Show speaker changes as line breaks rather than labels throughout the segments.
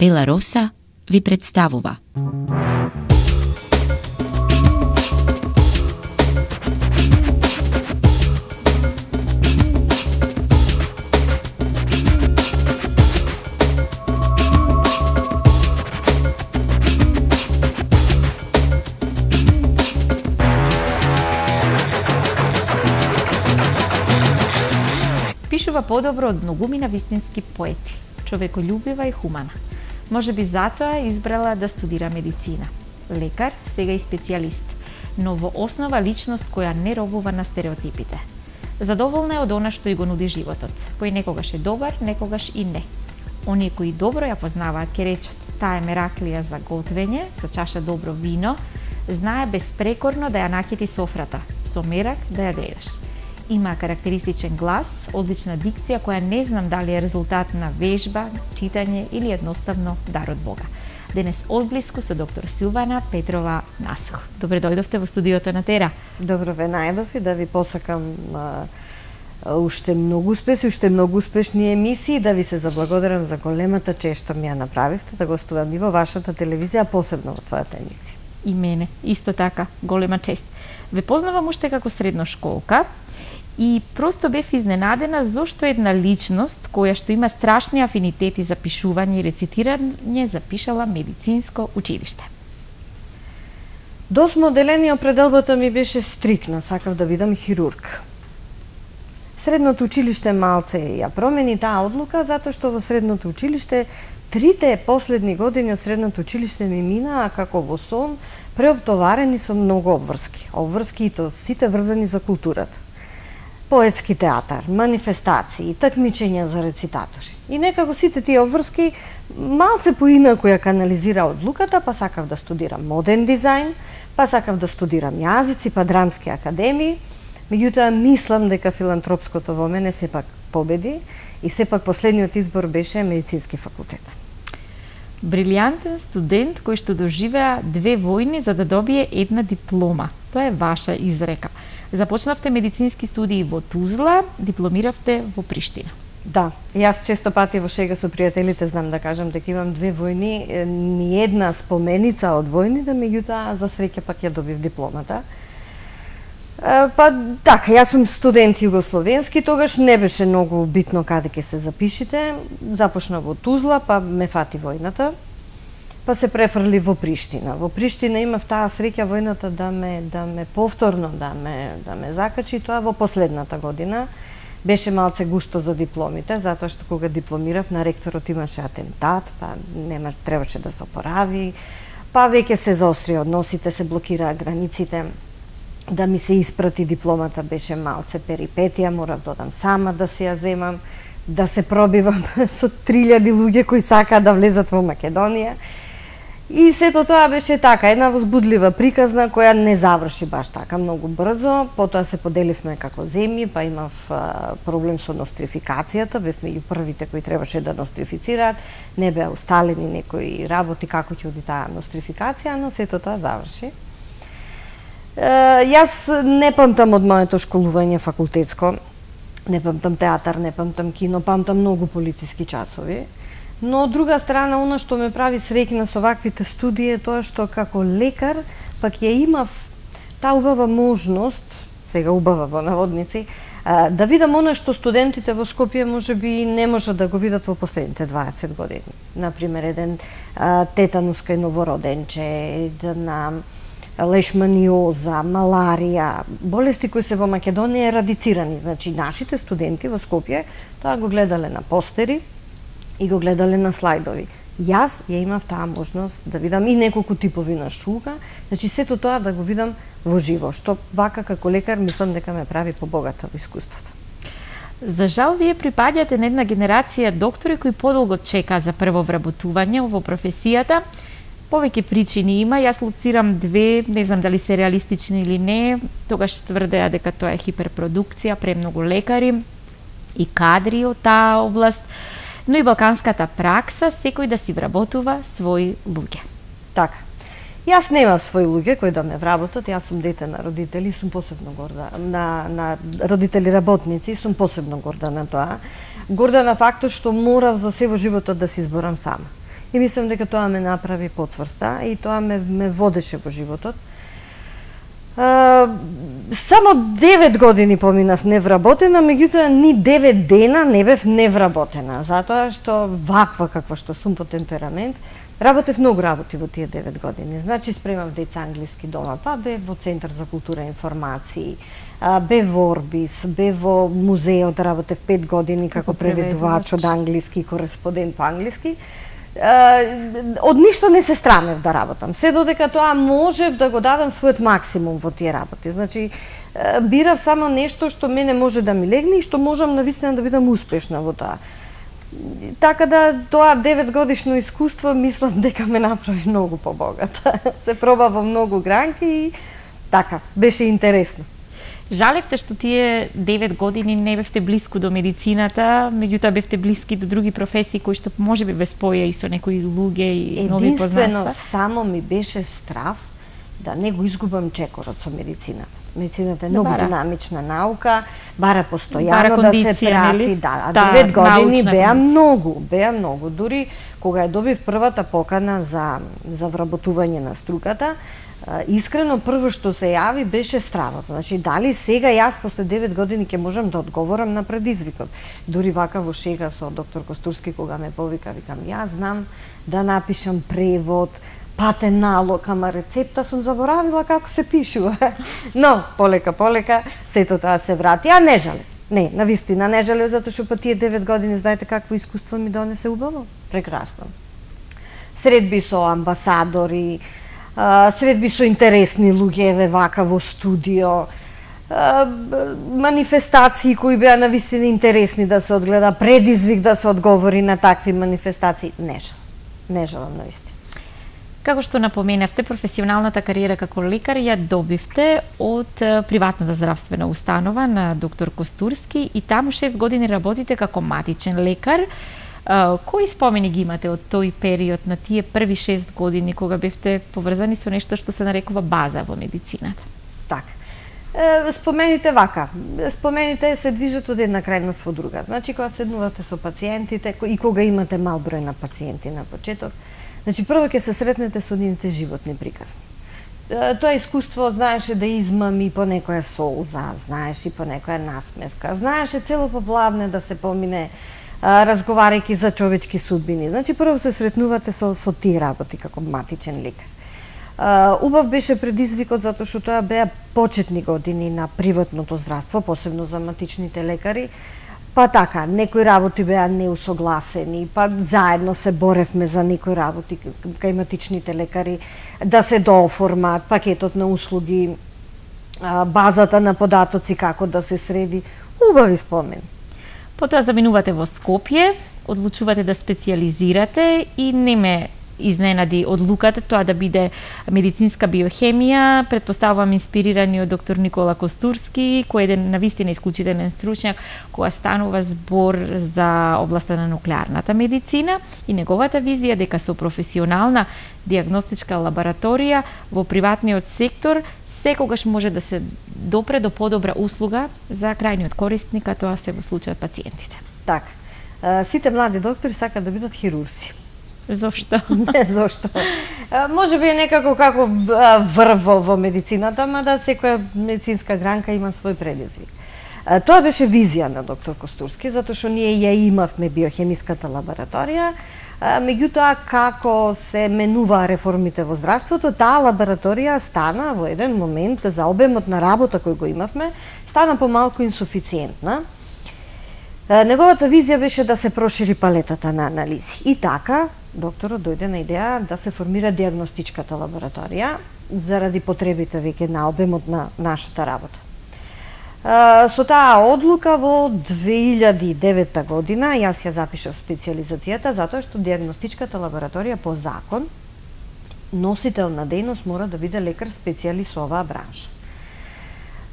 Пела Роса ви представува.
Пишува подобро од многумина вистински поети, човеколюбива и хумана. Можеби затоа избрала да студира медицина. Лекар, сега и специјалист, но во основа личност која не робува на стереотипите. Задоволна е од она што и го нуди животот, кој некогаш е добар, некогаш и не. Оние кои добро ја познаваат ке речат, таа е мераклија за готвење, за чаша добро вино, знае безпрекорно да ја накити софрата, со мерак да ја гледаш. Има карактеристичен глас, одлична дикција која не знам дали е резултат на вежба, читање или едноставно дар од Бога. Денес одблиску со доктор Силвана Петрова Наско. Добре дојдовте во студиото на Тера.
Добро ве најдов и да ви посакам уште многу успешни емисии, да ви се заблагодарам за големата чест што ми ја направивте, да гостувам и во вашата телевизија, посебно во твојата емисија.
И мене, исто така, голема чест. Ве познавам уште како средношколка, и просто бев изненадена зошто една личност која што има страшни афинитети за пишување и рецитирање запишала медицинско училиште.
Досмо одделение определбата ми беше стрикна, сакав да бидам хирург. Средното училиште малце ја промени таа одлука затоа што во средното училиште трите последни години од средното училиште ми минаа како во сон, преоптоварени со многу обврски. Обврски и то сите врзани за културата. Поетски театар, манифестации, такмичења за рецитатори. И некако сите тие обврски малце поинаку ја канализира одлуката, па сакав да студирам моден дизајн, па сакав да студирам јазици, па драмски академии. Меѓутоа мислам дека филантропското во мене сепак победи и сепак последниот избор беше медицински факултет.
Брилијантен студент кој што доживеа 2 војни за да добие една диплома. Тоа е ваша изрека. Започнавте медицински студии во Тузла, дипломиравте во Приштина.
Да, јас често пати во шега со пријателите знам да кажам дека имам 2 војни, ни една споменица од војните, меѓутоа за среќа пак ја добив дипломата. Па така, јас сум студент југословенски, тогаш не беше многу битно каде ќе се запишите. Започна во Тузла, па ме фати војната. Па се префрли во Приштина. Во Приштина имав таа среќа војната да ме повторно да ме закачи, тоа во последната година. Беше малце густо за дипломите, затоа што кога дипломирав на ректорот имаше атентат, па требаше да се опорави, па веќе се заострија односите, се блокираа границите. Да ми се испрати дипломата беше малце перипетија, морав да одам сама да се ја земам, да се пробивам со 3000 луѓе кои сакаат да влезат во Македонија. И сето тоа беше така, една возбудлива приказна која не заврши баш така многу брзо. Потоа се поделивме како земји, па имав проблем со нострификацијата, бев меѓу првите кои требаше да нострифицираат. Не беа усталени некои работи како ќе оди таа нострификација, но сето тоа заврши. Јас не памтам од моето школување факултетско, не памтам театар, не памтам кино, памтам многу полициски часови. Но од друга страна, она што ме прави среќна со ваквите студии е тоа што како лекар пак ја имав таа убава можност, сега убава во наводници, да видам она што студентите во Скопје можеби не можат да го видат во последните 20 години. Например, еден тетанус кај новороденче, една лешманиоза, маларија, болести кои се во Македонија ерадицирани. Значи, нашите студенти во Скопје тоа го гледале на постери и го гледале на слайдови. Јас ја имав таа можност да видам и неколку типови на шуга, значи сето тоа да го видам во живо, што вака како лекар мислам дека ме прави побогата во искуството.
За жал, вие припаѓате на една генерација доктори кои подолго чека за прво вработување во професијата. Повеќе причини има, јас лоцирам 2, не знам дали се реалистични или не, тогаш тврдеа дека тоа е хиперпродукција, премногу лекари и кадри од таа област, но и балканската пракса, секој да си вработува своји луѓе.
Така. Јас немам своји луѓе кои да ме вработат, јас сум дете на родители, сум посебно горда, на родители работници, сум посебно горда на тоа. Горда на фактот што морав за се во животот да се изборам сама. и мислам дека тоа ме направи поцврста и тоа ме водеше во животот. Само 9 години поминав невработена, меѓутоа ни 9 дена не бев невработена, затоа што ваква каква што сум по темперамент, работев многу работи во тие 9 години. Значи спремав деца англиски дома, па бев во Центар за култура и информации, бев во Орбис, бев во музеот, работев 5 години како преведувач од англиски, кореспондент по англиски. Од ништо не се страмев да работам, се додека тоа можев да го дадам својот максимум во тие работи. Значи, бирав само нешто што мене може да ми легне и што можам навистина да бидам успешна во тоа. Така да тоа 9 годишно искуство мислам дека ме направи многу побогата. Се проба во многу гранки и така, беше интересно.
Жалевте што тие 9 години не бевте блиску до медицината, меѓутоа бевте блиски до други професии кои што можеби ве споја и со некои луѓе и нови познанства.
Единствено само ми беше страв да не го изгубам чекорот со медицината. Медицината е многу динамична наука, бара постојано да се прати, да, 9 години беа многу. Дури кога ја добив првата покана за вработување на струката, искрено прво што се јави беше стравот. Значи, дали сега јас после 9 години ќе можам да одговорам на предизвикот. Дури вака во шега со доктор Костурски кога ме повика, викам, јас знам да напишам превод, патен налог, ама рецепта сум заборавила како се пишува. Но, полека, сето тоа се врати. А не жалев. Не, навистина не жалев, затоа што по тие 9 години, знаете какво искуство ми донесе убаво? Прекрасно. Средби со амбасадори, средби со интересни луѓе вака во студио, манифестации кои беа навистина интересни да се одгледа, предизвик да се одговори на такви манифестации. Не жалам навистина.
Како што напоменавте, професионалната кариера како лекар ја добивте од приватната здравствена установа на доктор Костурски и таму 6 години работите како матичен лекар. Кои спомени ги имате од тој период на тие први 6 години кога бевте поврзани со нешто што се нарекува база во медицината?
Така. Спомените вака. Спомените се движат од една крајност во друга. Значи, кога седнувате со пациентите и кога имате мал број на пациенти на почеток, значи, прво ќе се сретнете со нивните животни приказни. Тоа искуство знаеше да измами по некоја солза, знаеше и по некоја насмевка, знаеше цело поплавне да се помине разговарајќи за човечки судбини. Значи, прво се сретнувате со тие работи како матичен лекар. Убав беше предизвикот затоа што тоа беа почетни години на приватното здравство, посебно за матичните лекари. Па така, некои работи беа неусогласени, па заедно се боревме за некои работи кај матичните лекари, да се дооформат пакетот на услуги, базата на податоци како да се среди. Убави спомени.
Потоа заминувате во Скопје, одлучувате да специјализирате и не ме изненади одлуката тоа да биде медицинска биохемија, предпоставувам инспирирани од доктор Никола Костурски, кој е еден навистина исклучителен стручњак кога станува збор за областа на нуклеарната медицина и неговата визија дека со професионална диагностичка лабораторија во приватниот сектор секогаш може да се допре до подобра услуга за крајниот корисник, а тоа се во случајот пациентите.
Така. Сите млади доктори сакаат да бидат хирурзи.
Зошто?
Не, зошто. Може би е некако како врв во медицината, ама да секоја медицинска гранка има свој предизвик. Тоа беше визија на доктор Костурски, затоа што ние ја имавме биохемиската лабораторија, меѓутоа како се менуваа реформите во здравството, таа лабораторија стана во еден момент за обемот на работа кој го имавме, стана помалку инсуфициентна. Неговата визија беше да се прошири палетата на анализи. И така, докторот дојде на идеја да се формира диагностичката лабораторија заради потребите веќе на обемот на нашата работа. Со таа одлука во 2009 година јас ја запишав специјализацијата затоа што диагностичката лабораторија по закон носител на дејност мора да биде лекар специјалист во оваа бранша.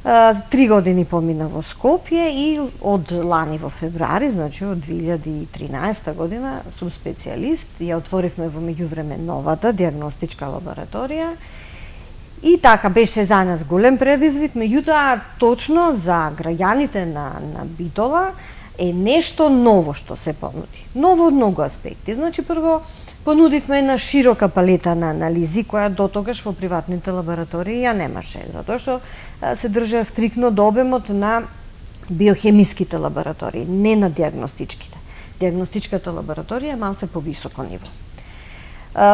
3 години помина во Скопје и од лани во февруари, значи од 2013 година, сум специјалист. Ја отворивме во меѓувреме новата диагностичка лабораторија. И така беше за нас голем предизвик, меѓутоа точно за граѓаните на Битола е нешто ново што се понуди. Ново од многу аспекти. Значи, прво, Понудивме една широка палета на анализи, која дотогаш во приватните лаборатории ја немаше, затоа што се држа стрикно до обемот на биохемиските лаборатории, не на диагностичките. Диагностичката лабораторија е малце повисоко ниво.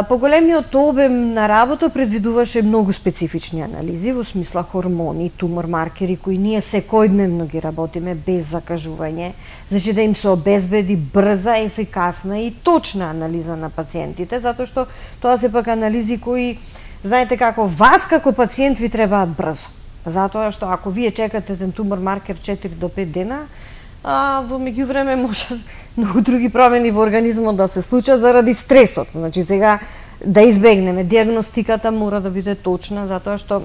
Поголемиот обем на работа предвидуваше многу специфични анализи, во смисла хормони, тумор маркери, кои ние секојдневно ги работиме без закажување, значи да им се обезбеди брза, ефикасна и точна анализа на пациентите, затоа што тоа се пак анализи кои, знаете како, вас како пациент ви требаат брзо. Затоа што ако вие чекате еден тумор маркер 4 до 5 дена, во меѓувреме може многу други промени во организмот да се случат заради стресот. Значи сега да избегнеме диагностиката мора да биде точна, затоа што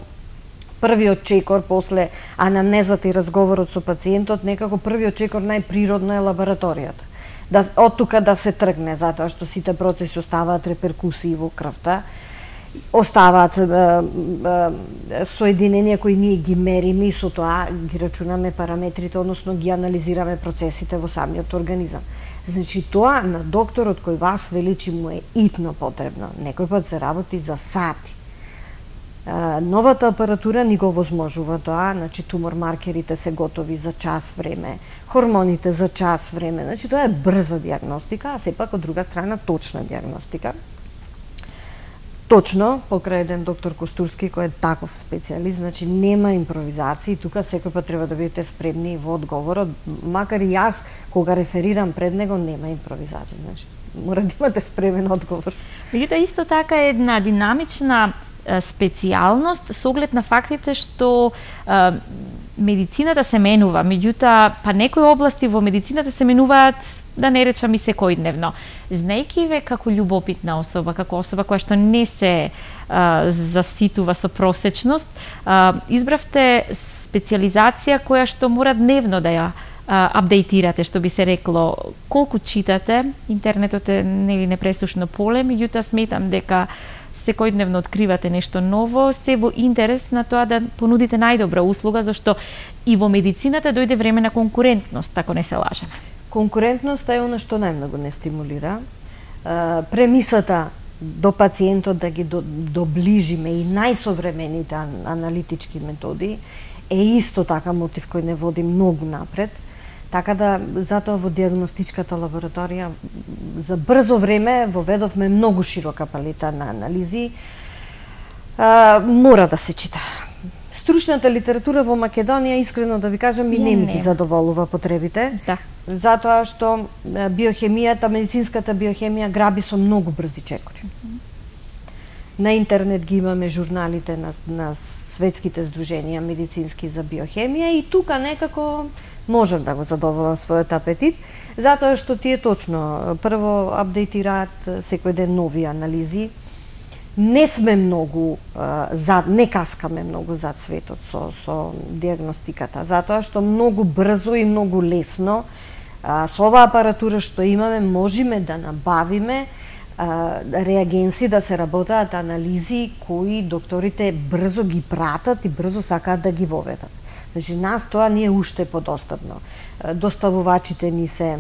првиот чекор после анамнезата и разговорот со пациентот, некако првиот чекор најприродно е лабораторијата. Од тука да се тргне, затоа што сите процеси оставаат реперкусии во крвта, оставаат соединенија кои ние ги мериме и со тоа ги рачунаме параметрите, односно ги анализираме процесите во самиот организам. Значи тоа на докторот кој вас величи му е итно потребно. Некој пат се работи за сати. Новата апаратура ни го возможува тоа, значи тумор маркерите се готови за час време, хормоните за час време, значи тоа е брза диагностика, а сепак од друга страна точна диагностика. Точно, покрај еден доктор Костурски кој е таков специјалист, значи нема импровизации, тука секој пат треба да бидете спремни во одговорот, макар и јас кога реферирам пред него нема импровизација, значи мора да имате спремен одговор.
Меѓутоа исто така е една динамична специјалност со оглед на фактите што медицината се менува, меѓутоа па некои области во медицината се менуваат, да не речам и секојдневно. Знаејќи ве како љубопитна особа, како особа која што не се заситува со просечност, избравте специјализација која што мора дневно да ја апдейтирате, што би се рекло. Колку читате, интернетот е нели непресушно поле, меѓутоа сметам дека секојдневно откривате нешто ново, се во интерес на тоа да понудите најдобра услуга, зашто и во медицината дојде време на конкурентност, ако не се лажеме.
Конкурентноста е она што најмногу не стимулира. Премисата до пациентот да ги доближиме и најсовремените аналитички методи е исто така мотив кој не води многу напред. Така да, затоа во диагностичката лабораторија за брзо време воведовме многу широка палета на анализи. Мора да се чита. Стручната литература во Македонија, искрено да ви кажам, и не ми ги задоволува потребите.
Да.
Затоа што биохемијата, медицинската биохемија граби со многу брзи чекори. На интернет ги имаме журналите на светските здруженија медицински за биохемија и тука некако можам да го задоволам својот апетит, затоа што тие точно прво апдейтираат секој ден нови анализи. Не сме многу не каскаме многу зад светот со диагностиката, затоа што многу брзо и многу лесно со оваа апаратура што имаме можеме да набавиме реагенси да се работаат анализи кои докторите брзо ги пратат и брзо сакаат да ги воведат. Значи, нас тоа не е уште подостапно. Доставувачите ни се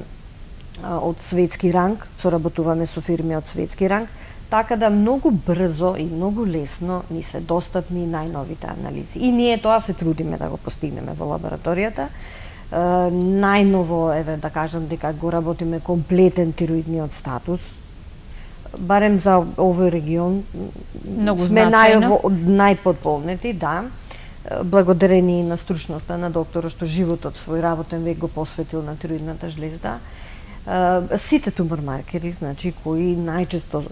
од светски ранг, соработуваме со фирми од светски ранг, така да многу брзо и многу лесно ни се достапни најновите анализи. И ние тоа се трудиме да го постигнеме во лабораторијата. Најново, еве да кажам дека го работиме комплетен тироидниот статус, барем за овој регион
многу
сме
најподполнети,
да. Благодарение на стручноста на докторот што животот свој работен век го посветил на тироидната жлезда. Сите тумор маркери, значи кои најчесто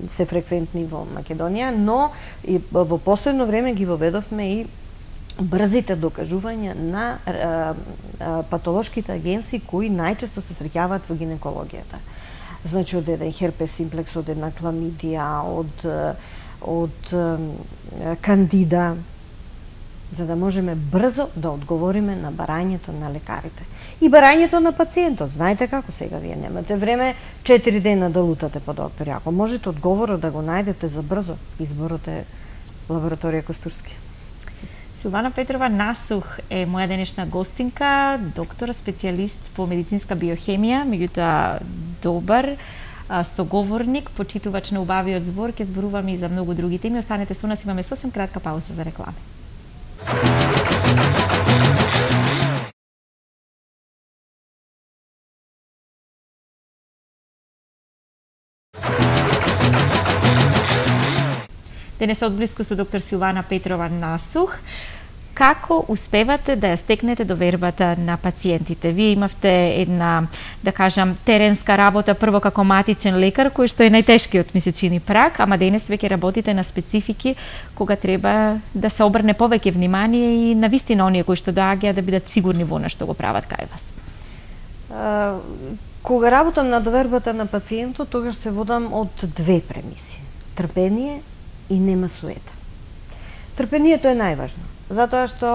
се фреквентни во Македонија, но и во последно време ги воведовме и брзите докажувања на патолошките агенси кои најчесто се среќаваат во гинекологијата. Значи од еден херпес симплекс, од една кламидија, од кандида, за да можеме брзо да одговориме на барањето на лекарите. И барањето на пациентот. Знаете како сега вие немате време 4 дена да лутате по доктори. Ако можете одговорот да го најдете за брзо, изборот е лабораторија Костурски.
Силвана Петрова Насух е моја денешна гостинка, доктор, специјалист по медицинска биохемија, меѓутоа добар соговорник, почитувач на убавиот збор, ќе зборуваме и за многу други теми. Останете со нас, имаме сосем кратка пауза за реклами. Денес одблиску со доктор Силвана Петрова Насух. Како успевате да ја стекнете довербата на пациентите? Вие имавте една, да кажам, теренска работа прво како матичен лекар, кој што е најтешкиот месечини прак, ама денес веќе работите на специфики кога треба да се обрне повеќе внимание и на вистина оние кои што доаѓаат да бидат сигурни во она што го прават кај вас.
Кога работам на довербата на пациентот, тогаш се водам од две премиси: трпение и нема суета. Трпението е најважно, затоа што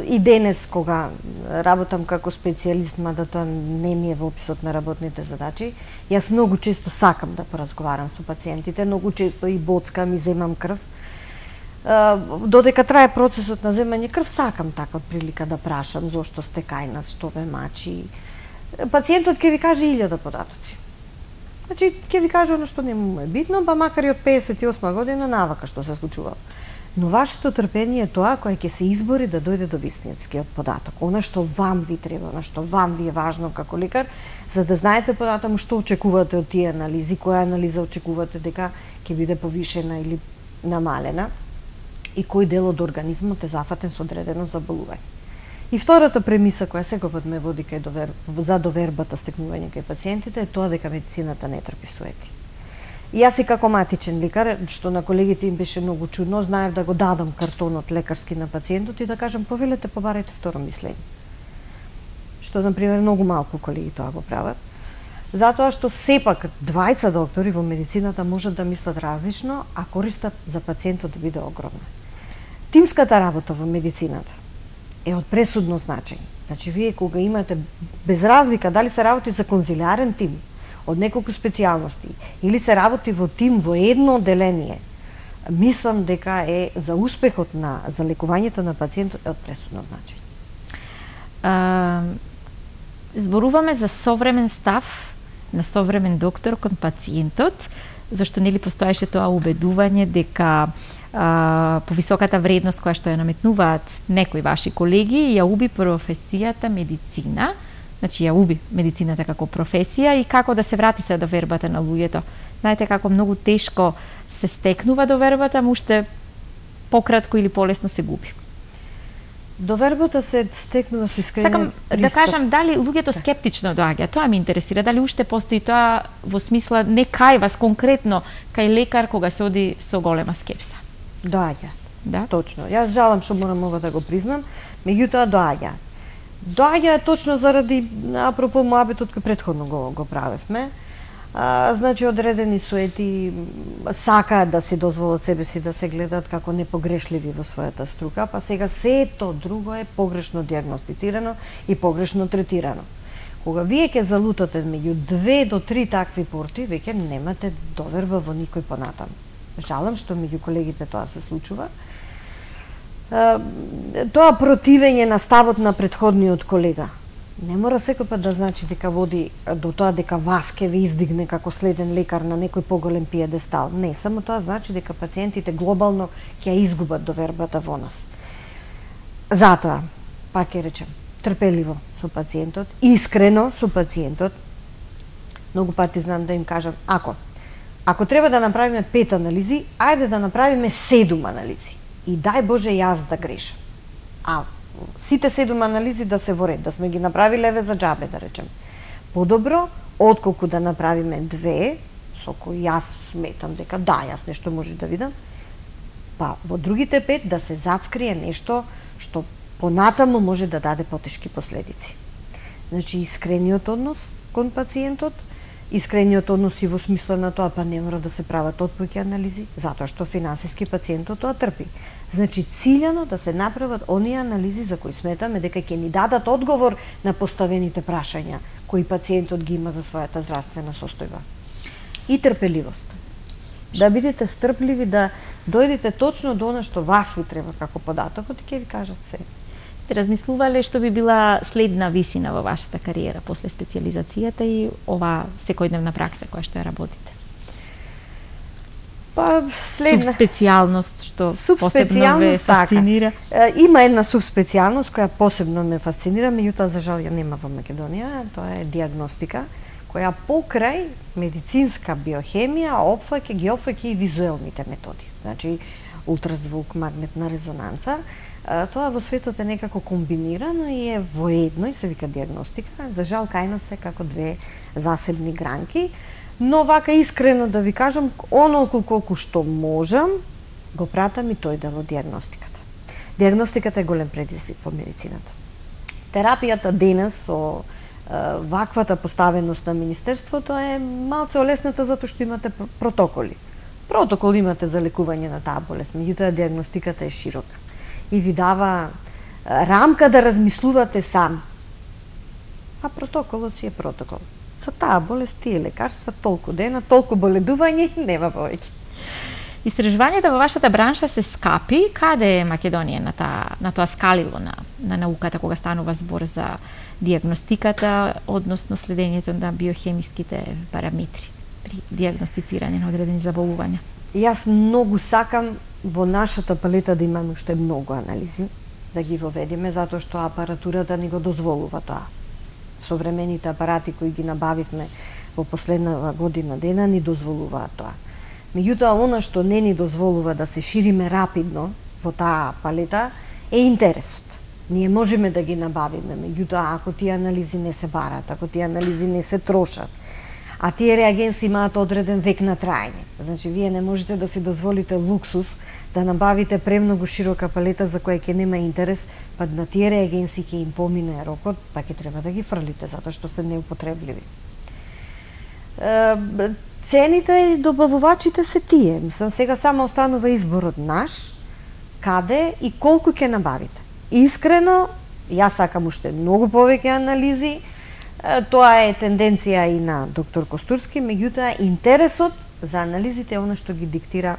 и денес кога работам како специјалист, мада тоа не ми е во описот на работните задачи, јас многу често сакам да поразговарам со пациентите, многу често и боцкам и земам крв. Додека трае процесот на земање крв, сакам така прилика да прашам зошто сте кај нас, што ве мачи. Пациентот ќе ви каже 1000 податоци. Значи, ќе ви каже оно што не му е битно, па макар и од 58 година навака што се случува. Но вашето трпение е тоа кое ќе се избори да дојде до вистинскиот податок. Она што вам ви треба, она што вам ви е важно како лекар, за да знаете понатаму што очекувате од тие анализи, која анализа очекувате дека ќе биде повишена или намалена и кој дел од организмот е зафатен со одредено заболување. И втората премиса која секогаш ме води за довербата стекнување кај пациентите е тоа дека медицината не трпи суети. И јас и како матичен лекар, што на колегите им беше многу чудно, знаев да го дадам картонот лекарски на пациентот и да кажам повелете, побарајте второ мислење. Што, например, многу малку колеги тоа го прават. Затоа што сепак двајца доктори во медицината можат да мислат различно, а користот за пациентот да биде огромна. Тимската работа во медицината е од пресудно значење. Значи, вие кога имате, без разлика дали се работи за конзилиарен тим, од неколку специјалности, или се работи во тим во едно одделение, мислам дека е за успехот за лекувањето на пациентот е од пресудно значење.
Зборуваме за современ став на современ доктор кон пациентот, зашто нели постоеше тоа убедување дека повисоката вредност која што ја наметнуваат некои ваши колеги ја уби професијата медицина. Значи, ја уби медицината како професија и како да се врати се довербата на луѓето. Знаете како многу тешко се стекнува довербата, му уште пократко или полесно се губи.
Довербата се стекнува со искрен
Сакам да кажам дали луѓето скептично доаѓа. Тоа ме интересира, дали уште постои тоа во смисла не кај вас конкретно, кај лекар кога се оди со голема скепса.
Доаѓа.
Да?
Точно. Јас жалам што морам ова да го признам, меѓутоа доаѓа. Доаѓа точно заради, апропо моабетот кој претходно го правевме. Значи, одредени суети сакаат да си дозволат себе си да се гледат како непогрешливи во својата струка, па сега сето друго е погрешно диагностицирано и погрешно третирано. Кога вие ќе залутате меѓу 2 до 3 такви порти, веќе немате доверба во никој понатаму. Жалам што меѓу колегите тоа се случува. Тоа противење на ставот на претходниот колега не мора секој пат да значи дека води до тоа дека вас ќе ви издигне како следен лекар на некој поголем пиедестал. Не, само тоа значи дека пациентите глобално ќе ја изгубат довербата во нас. Затоа, пак ќе речем, трпеливо со пациентот, искрено со пациентот. Многу пати знам да им кажам, ако треба да направиме 5 анализи, ајде да направиме 7 анализи. И дај Боже јас да грешам. Сите 7 анализи да се во ред, да сме ги направиле еве за џабе, да речем. Подобро, отколку да направиме 2, со кои јас сметам дека да, јас нешто може да видам, па во другите 5 да се зацкрие нешто што понатаму може да даде потешки последици. Значи, искрениот однос кон пациентот, искрениот однос и во смисла на тоа, па не мора да се прават отпојки анализи, затоа што финансиски пациентот тоа трпи. Значи, циљано да се направат оние анализи за кои сметаме дека ќе ни дадат одговор на поставените прашања кои пациентот ги има за својата здравствена состојба. И трпеливост. Да бидете стрпливи, да дојдете точно до она што вас ви треба како податокот и ќе ви кажат се.
размислувале што би била следна висина во вашата кариера после специјализацијата и ова секојдневна пракса која што ја работите?
Па
субспецијалност што посебно ве фасцинира.
Така. Има една субспецијалност која посебно ме фасцинира, меѓутоа за жал ја нема во Македонија, тоа е диагностика, која покрај медицинска биохемија ги опфаќа и визуелните методи. Значи ултразвук, магнетна резонанца. Тоа во светот е некако комбинирано и е воедно и се вика диагностика. За жал кај нас е како две засебни гранки. Но вака искрено да ви кажам, онолку колку што можам, го пратам и тој дел од диагностиката. Диагностиката е голем предизвик во медицината. Терапијата денес со ваквата поставеност на Министерството е малце олесната затоа што имате протоколи. Протокол имате за лекување на таа болест, меѓутоа диагностиката е широка и ви дава рамка да размислувате сам. А протоколот си е протокол. За таа болест тие лекарства толку дена, толку боледување, нема повеќе.
Истражувањата во вашата бранша се скапи. Каде е Македонија на тоа скалило на науката кога станува збор за диагностиката, односно следењето на биохемиските параметри при диагностицирање на одредени заболувања?
Јас многу сакам во нашата палета да имаме уште многу анализи, да ги воведеме, затоа што апаратурата ни го дозволува тоа. Современите апарати кои ги набавивме во последна година дена ни дозволуваат тоа. Меѓутоа, она што не ни дозволува да се шириме рапидно во таа палета е интересот. Ние можеме да ги набавиме, меѓутоа, ако тие анализи не се барат, ако тие анализи не се трошат, а тие реагенси имаат одреден век на траење. Значи, вие не можете да си дозволите луксус да набавите премногу широка палета за која ќе нема интерес, па на тие реагенси ќе им помине рокот, па ќе треба да ги фрлите, затоа што се неупотребливи. Цените и добавувачите се тие. Мислам, сега само останува изборот наш, каде и колку ќе набавите. Искрено, јас сакам уште многу повеќе анализи. Тоа е тенденција и на доктор Костурски, меѓутоа интересот за анализите е она што ги диктира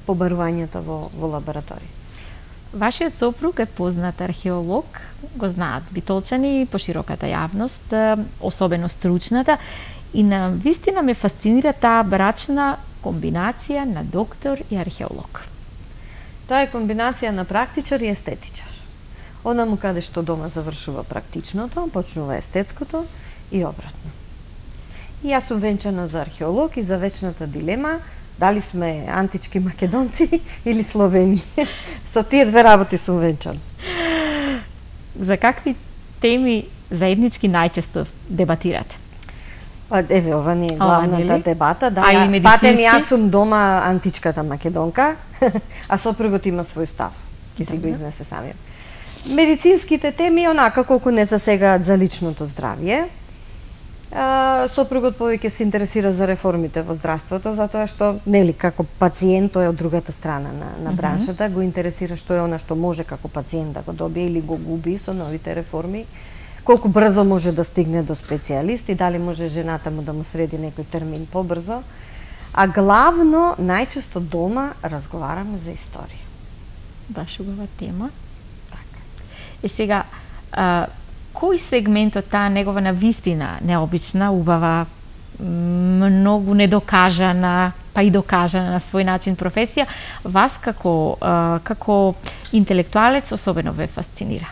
побарувањата во лабораторија.
Вашиот сопруг е познат археолог, го знаат битолчани, пошироката јавност, особено стручната, и на вистина ме фасцинира таа брачна комбинација на доктор и археолог.
Тоа е комбинација на практичар и естетичар. Онаму каде што дома завршува практичното, почнува естетското и обратно. И јас сум венчана за археолог и за вечната дилема дали сме антички македонци или словени. Со тие две работи сум венчана.
За какви теми заеднички најчесто дебатирате?
Па, еве, ова не е главната дебата. Да,
патем
јас сум дома античката македонка, а сопругот има свој став. Ќе си го изнесе самиот. Медицинските теми, онака колку не засегаат за личното здравје. Сопругот повеќе се интересира за реформите во здравството, затоа што, нели, како пациент, тој е од другата страна на браншата, го интересира што е она што може како пациент да го добие или го губи со новите реформи, колку брзо може да стигне до специјалист и дали може жената му да му среди некој термин побрзо. А главно, најчесто дома разговараме за историја.
Баш убава тема. Сега, кој сегмент од таа негова навистина необична, убава, многу недокажана, па и докажана на свој начин професија, вас како интелектуалец особено ве фасцинира?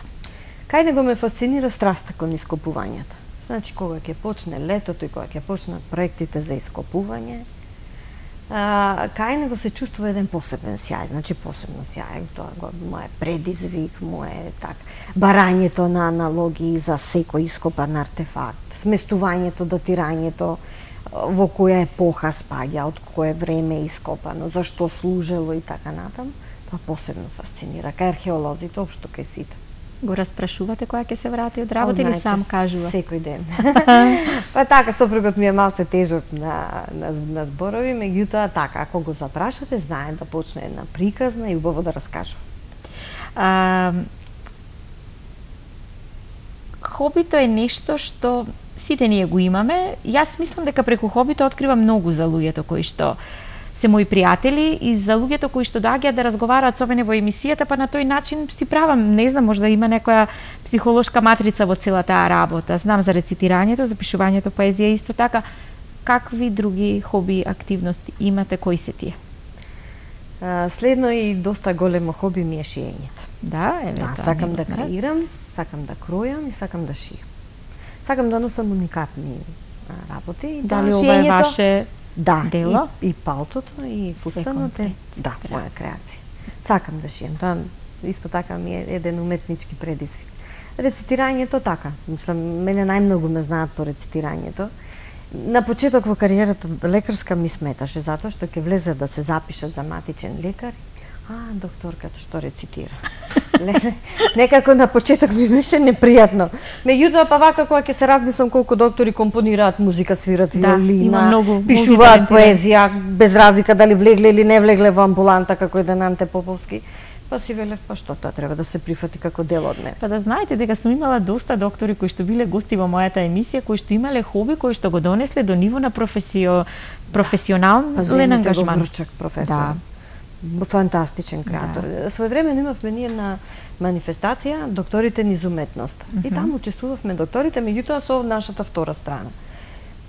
Кај него ме фасцинира страста кон ископувањата. Значи, кога ќе почне летото и кога ќе почнат проектите за ископување, кај него се чувствува еден посебен сјај, значи посебно сјај, тоа му е предизвик, му е барањето на аналогии за секој ископан артефакт, сместувањето, датирањето, во која епоха спаѓа, од кое време е ископано, зашто служело и така натаму, тоа посебно фасцинира, кај археолозите, општо кај сите.
Го распрашувате кога ќе се врати од работа или сам кажува?
Секој ден. Па така, сопругот ми е малце тежок на зборови, меѓутоа така, ако го запрашате, знае да почне една приказна и убаво да раскажува.
Хобито е нешто што сите ние го имаме. Јас мислам дека преку хобито открива многу за луѓето кои што се мои пријатели и за луѓето кои што доаѓаат да разговараат со мене во емисијата, па на тој начин си правам, не знам, можда има некоја психолошка матрица во целата таа работа. Знам за рецитирањето, за пишувањето поезија исто така. Какви други хоби, активности имате, кои се тие?
Следно и доста големо хоби ми е шиењето.
Да, еве
Да, сакам да креирам, сакам да кројам и сакам да шијам. Сакам да носам уникатни работи.
Дали ова е ваше дело?
И палтото, и фустанот е, да, моја креација. Сакам да шијам, тоа исто така ми е еден уметнички предизвик. Рецитирањето така, мислам, мене најмногу ме знаат по рецитирањето. На почеток во кариерата лекарска ми сметаше, затоа што ќе влезе да се запишат за матичен лекар. Докторката што рецитира. Некако на почеток ми беше непријатно. Меѓутоа, па вака кога ќе се размислам колку доктори компонираат музика, свират виолина, пишуваат поезија, без разлика дали влегле или не влегле во амбуланта како еден Анте Поповски, па си велев, па што тоа треба да се прифати како дел од мене.
Па да знаете дека сум имала доста доктори кои што биле гости во мојата емисија, кои што имале хоби, кои што го донесле до ниво на професионален ангажман.
Врчак, професор. Фантастичен креатор. Своевремено имавме ние една манифестација докторите низ уметноста. И таму учествувавме докторите, меѓутоа со нашата втора страна.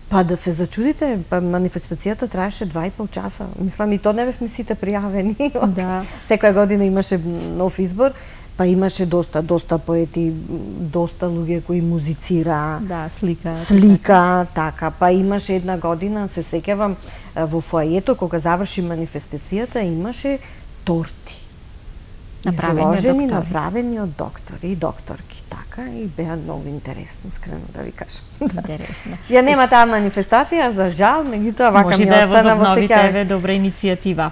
Па да се зачудите, па манифестацијата траеше 2,5 часа. Мислам, и то не бевме сите пријавени.
Да.
Секоја година имаше нов избор, па имаше доста поети, доста луѓе кои музицира.
Да,
слика, така. Па имаше една година, се сеќавам, во фоајето кога заврши манифестацијата, имаше торти. Изложени, направени од доктори и докторки, така, и беа многу интересни, искрено да ви кажам.
Интересно.
Ја нема таа манифестација, за жал, меѓутоа вака ми остана во сеќавање.
Може да добра иницијатива.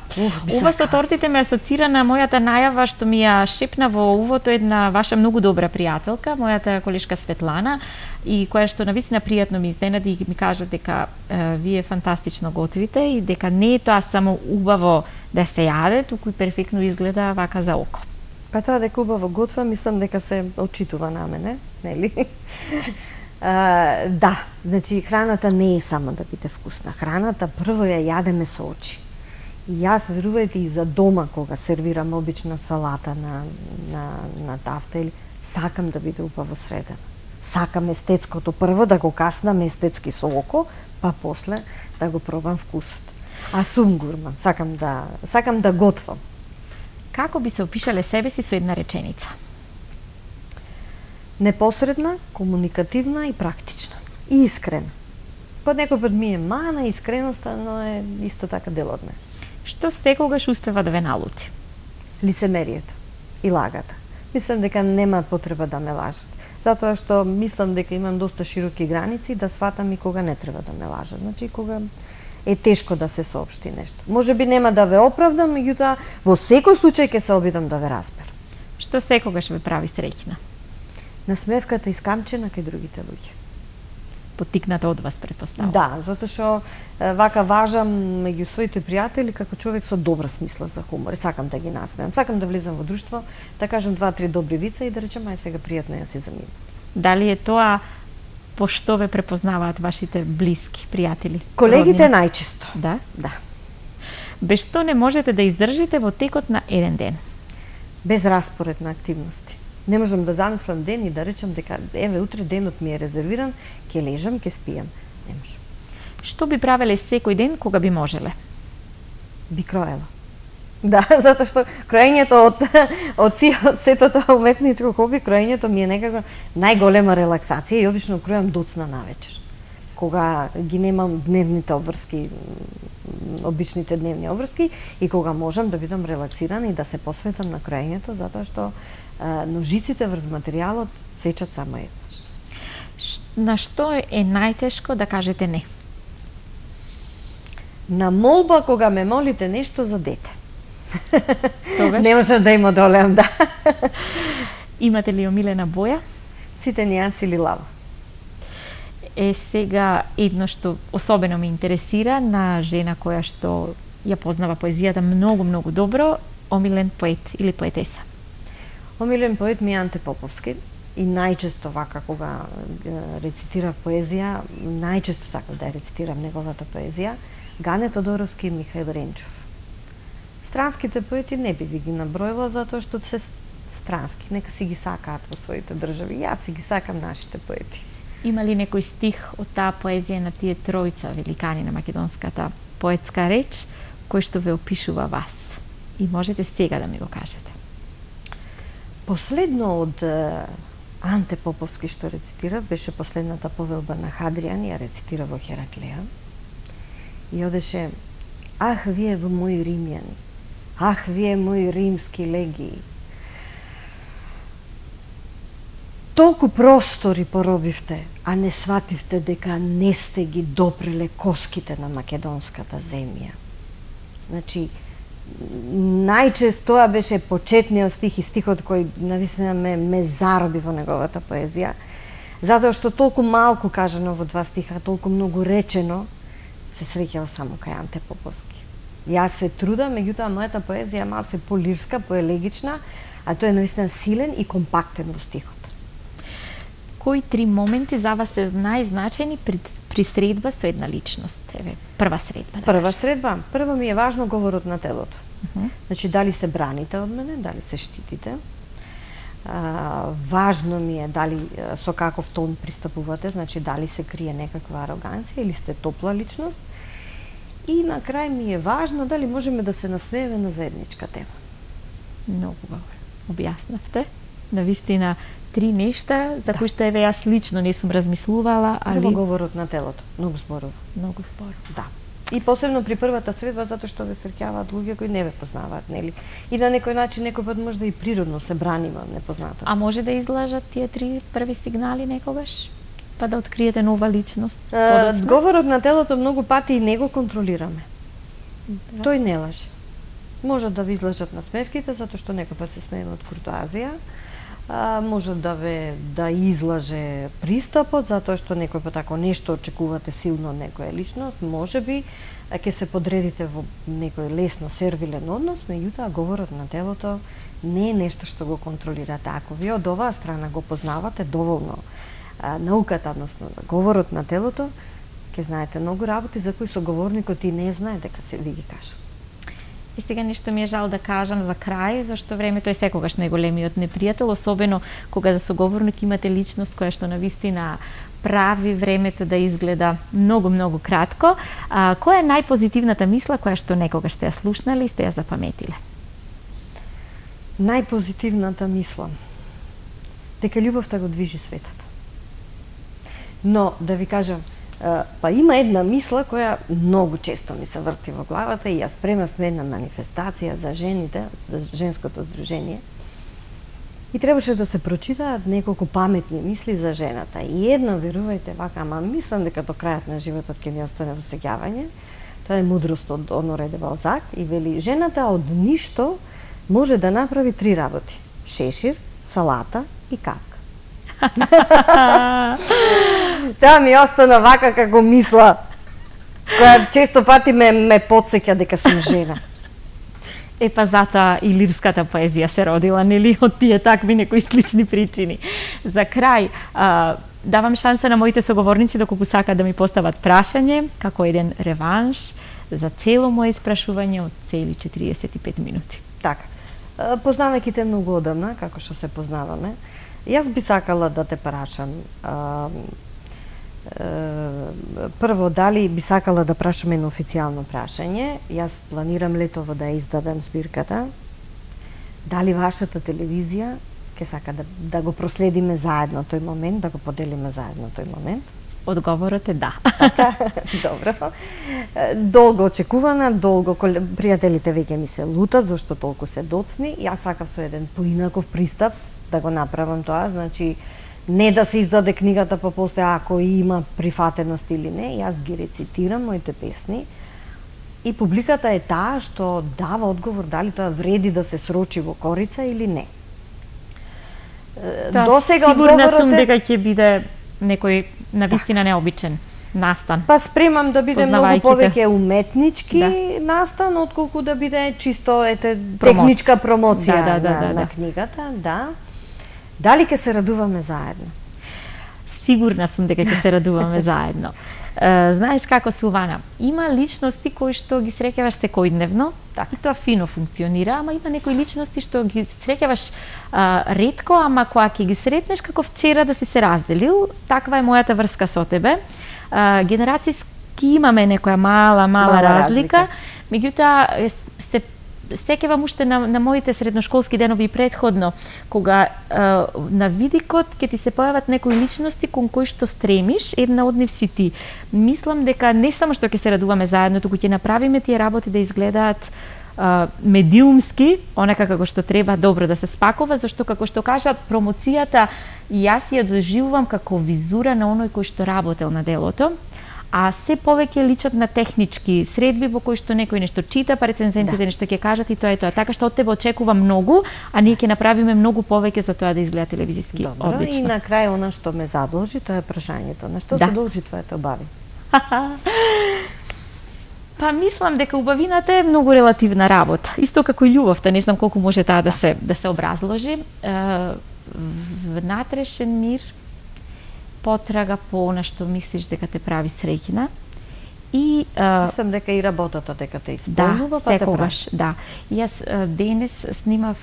Ова со тортите ме асоцира на мојата најава што ми ја шепна во увото една ваша многу добра пријателка, мојата колешка Светлана, и која што навистина пријатно ми изненади и ми кажа дека вие фантастично готвите и дека не е тоа само убаво да се јаде, туку и перфектно изгледа вака за око.
Па тоа дека убаво готва, мислам дека се очитува на мене, нели? Да, значи храната не е само да биде вкусна. Храната прво ја јадеме со очи. И јас, верувајте, и за дома кога сервирам обична салата на тафта, или сакам да биде убаво средена. Сакам естетското прво да го каснам естетски со око, па после да го пробам вкусот. А сум гурман, сакам да готвам.
Како би се опишале себе си со една реченица?
Непосредна, комуникативна и практична. И искрена. Под некој пат ми е мана, искреноста, но е исто така дел од мене.
Што секогаш успева да ве налути?
Лицемерието и лагата. Мислам дека нема потреба да ме лажат. Затоа што мислам дека имам доста широки граници да сватам и кога не треба да ме лажат. Значи, кога е тешко да се соопшти нешто. Може би нема да ве оправдам, меѓутоа во секој случај ќе се обидам да ве разберам.
Што секогаш ве прави среќна?
Насмевката искамчена кај другите луѓе.
Поттикната од вас, претпоставувам.
Да, затоа што вака важам меѓу своите пријатели како човек со добра смисла за хумор. И сакам да ги насмеам. Сакам да влезам во друштво, да кажам 2-3 добри вица и да речем ај сега пријатно ја си заминам.
Дали е тоа по што ве препознаваат вашите блиски пријатели?
Колегите најчесто.
Да?
Да.
Без што не можете да издржите во текот на еден ден?
Без распоред на активности. Не можам да замислам ден и да речам дека еве утре денот ми е резервиран, ќе лежам, ќе спијам. Не можам.
Што би правеле секој ден кога би можеле?
Би кроела. Да, затоа што кроењето од сето тоа уметничко хоби, кроењето ми е некако најголема релаксација и обично кројам доцна навечер. Кога ги немам дневните обврски, обичните дневни обврски и кога можам да бидам релаксирана и да се посветам на кроењето, затоа што ножиците врз материјалот сечат само еднаш.
На што е најтешко да кажете не?
На молба кога ме молите нешто за дете.
Тогаш?
Не можам да им одолеам, да.
Имате ли омилена боја?
Сите нијанси лилаво.
Сега едно што особено ме интересира на жена која што ја познава поезијата многу добро, омилен поет или поетеса?
Омилен поет ми е Анте Поповски и најчесто вака кога рецитирав поезија, најчесто сакав да ја рецитирам неговата поезија, Гане Тодоровски и Михаил Ренчов. Странските поети не би ги наброила затоа што се странски, нека си ги сакаат во своите држави. Јас си ги сакам нашите поети.
Има ли некој стих од таа поезија на тие тројца великани на македонската поетска реч кој што ве опишува вас? И можете сега да ми го кажете.
Последно од Анте Поповски што рецитира беше последната повелба на Хадриан, ја рецитира во Хераклеја. И одеше: ах, вие мои римјани, ах, вие мои римски легии. Толку простори поробивте, а не свативте дека не сте ги допреле коските на македонската земја. Значи, најчесто тоа беше почетниот стих и стихот кој навистина ме зароби во неговата поезија, затоа што толку малку кажано во два стиха, толку многу речено, се среќава само кај Анте Поповски. Јас се трудам, меѓутоа мојата поезија е малце полирска, поелегична, а тој е навистина силен и компактен во стихот.
Кои три моменти за вас се најзначајни при средба со една личност? Еве, прва средба.
Прва средба, прво ми е важно говорот на телото. Значи, дали се браните од мене, дали се штитите. Важно ми е дали со каков тон пристапувате, значи дали се крие некаква ароганција или сте топла личност. И на крај ми е важно дали можеме да се насмееме на заедничка тема.
Многу добро. Објаснавте. Навистина три нешта за кои што еве јас лично не сум размислувала, али
прво говорот на телото, многу зборува.
Многу зборува.
Да. И посебно при првата средба затоа што ве среќаваат луѓе кои не ве познаваат, нели? И на некој начин некој пат може да и природно се браниме од непознатото.
А може да излажат тие три први сигнали некогаш? Па да откриете нова личност?
Говорот на телото многу пати и не го контролираме. Да. Тој не лаже. Може да ви излажат на смевките, затоа што некој пат се смееме од куртоазија. Може да излаже пристапот, затоа што некој пат ако нешто очекувате силно од некоја личност, може би ќе се подредите во некој лесно сервилен однос, меѓутоа говорот на телото не е нешто што го контролирате. Ако ви од оваа страна го познавате доволно науката, односно говорот на телото, ќе знаете многу работи за кои соговорникот и не знае дека се ви ги кажа.
И сега нешто ми е жал да кажам за крај, зашто времето е секогаш најголемиот непријател, особено кога за соговорник имате личност која што навистина прави времето да изгледа многу кратко. Која е најпозитивната мисла која што некогаш сте ја слушнале и сте ја запаметиле?
Најпозитивната мисла дека љубовта го движи светот. Но да ви кажам, па има една мисла која многу често ми се врти во главата и ја спремавме една манифестација за жените, за женското здружение. И требаше да се прочитаат неколку паметни мисли за жената. И една, верувајте, вака, ама мислам дека до крајот на животот ќе ми остане во сеќавање. Тоа е мудрост од Оноре де Балзак и вели: жената од ништо може да направи три работи: шешир, салата и кавка. Таа ми остана вака како мисла, која често пати ме потсеќа дека сум жена.
Па затоа и лирската поезија се родила, нели, од тие такви некои слични причини. За крај, давам шанса на моите соговорници доколку сакаат да ми постават прашање, како еден реванш за цело моje испрашување од цели 45 минути.
Така, познавајќи те многу одамна, како што се познаваме, јас би сакала да те прашам, прво, дали би сакала да прашам едно официјално прашање. Јас планирам летово да издадам збирката. Дали вашата телевизија ќе сака да го проследиме заедно тој момент, да го поделиме заедно тој момент?
Одговорот е да.
Така, добро. Долго очекувана, долго пријателите веќе ми се лутат зашто толку се доцни. Јас сакав со еден поинаков пристап да го направам тоа, значи не да се издаде книгата па после ако има прифатеност или не, јас ги рецитирам моите песни и публиката е таа што дава одговор дали тоа вреди да се срочи во корица или не.
До сега сигурна сум дека ќе биде некој навистина необичен настан.
Па спремам да биде многу повеќе уметнички настан, отколку да биде чисто техничка промоција на книгата, да. Дали ќе се радуваме заедно?
Сигурна сум дека ќе се радуваме заедно. Знаеш како, Силвана, има личности кои што ги среќаваш секојдневно,
Так.
и тоа фино функционира, ама има некои личности што ги среќаваш ретко, ама кога ќе ги сретнеш како вчера да си се разделил, таква е мојата врска со тебе. Генерацијски имаме некоја мала разлика, меѓутоа се сеќавам уште на моите средношколски денови и предходно, кога на видикот ќе ти се појават некои личности кон кои што стремиш, една од нив си ти. Мислам дека не само што ќе се радуваме заедно, туку ќе направиме тие работи да изгледаат медиумски, онака како што треба добро да се спакува, зашто како што кажа промоцијата, јас ја доживувам како визура на оној кој што работел на делото, а се повеќе личат на технички средби во кои што некој нешто чита, па рецензентите нешто ќе кажат и тоа е тоа. Така што од тебе очекувам многу, а ние ќе направиме многу повеќе за тоа да изгледа телевизиски одлично.
И на крај она што ме задложи, тоа е прашањето. На што се должи твојата убави?
Па мислам дека убавината е многу релативна работа. Исто како и љубовта, не знам колку може таа да се образложи. Внатрешен мир, потрага по она што мислиш дека те прави среќна. И
мислам дека и работата дека те исполнува, па те прави.
Да. Јас денес снимав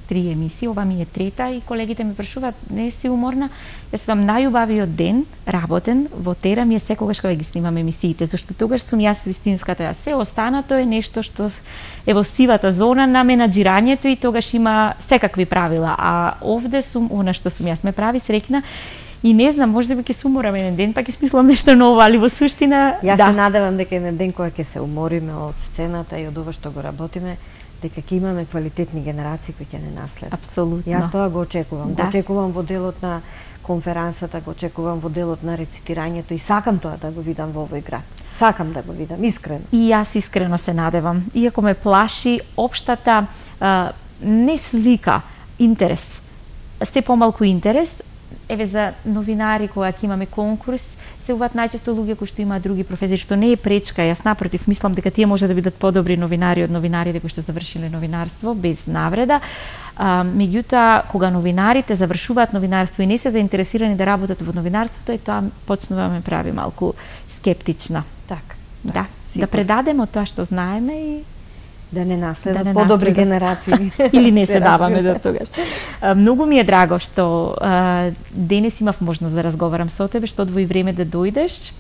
3 емисии, ова ми е трета и колегите ме прашуваат, не си уморна? Јас вам најубавиот ден работен во Тера ми е секогаш кога ги снимам емисиите, зашто тогаш сум јас вистинската јас. Се останато е нешто што е во сивата зона на менаџирањето и тогаш има секакви правила, а овде сум она што сум јас, ме прави среќна. И не знам, може би ќе се уморам еден ден, па ќе смислам нешто ново, али во суштина,
Јас се надевам дека еден ден кога ќе се умориме од сцената и од ова што го работиме, дека ќе имаме квалитетни генерации кои ќе не наследат.
Апсолутно.
Јас тоа го очекувам. Го очекувам во делот на конферансата, го очекувам во делот на рецитирањето и сакам тоа да го видам во овој град. Сакам да го видам, искрено.
И јас искрено се надевам. Иако ме плаши општата не слика, интерес. Се помалку интерес. Еве за новинари кога ќе имаме конкурс, се уваат најчесто луѓе кои што имаат други професии, што не е пречка. Јас напротив мислам дека тие може да бидат подобри новинари од новинарите кои што завршиле новинарство без навреда. Меѓутоа, кога новинарите завршуваат новинарство и не се заинтересирани да работат во новинарството, тоа почнува да ме прави малку скептична. Да предадеме тоа што знаеме и
да не наследат подобри генерации.
Или не се даваме до тогаш. Многу ми е драго што денес имав можност да разговарам со тебе, што одвои време да дојдеш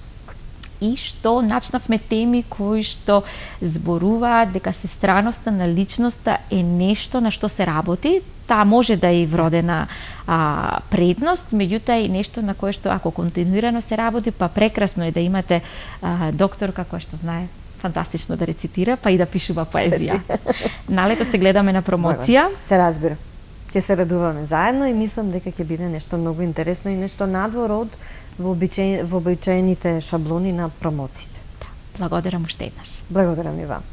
и што начнавме теми кои што зборуваат дека сестраноста на личноста е нешто на што се работи. Таа може да е вродена предност, меѓутоа и нешто на кое што ако континуирано се работи, па прекрасно е да имате докторка која што знае фантастично да рецитира, па и да пишува поезија. Налето се гледаме на промоција.
Се разбира. Ќе се радуваме заедно и мислам дека ќе биде нешто многу интересно и нешто надвор од вообичаените шаблони на промоциите.
Благодарам уште еднаш.
Благодарам и вам.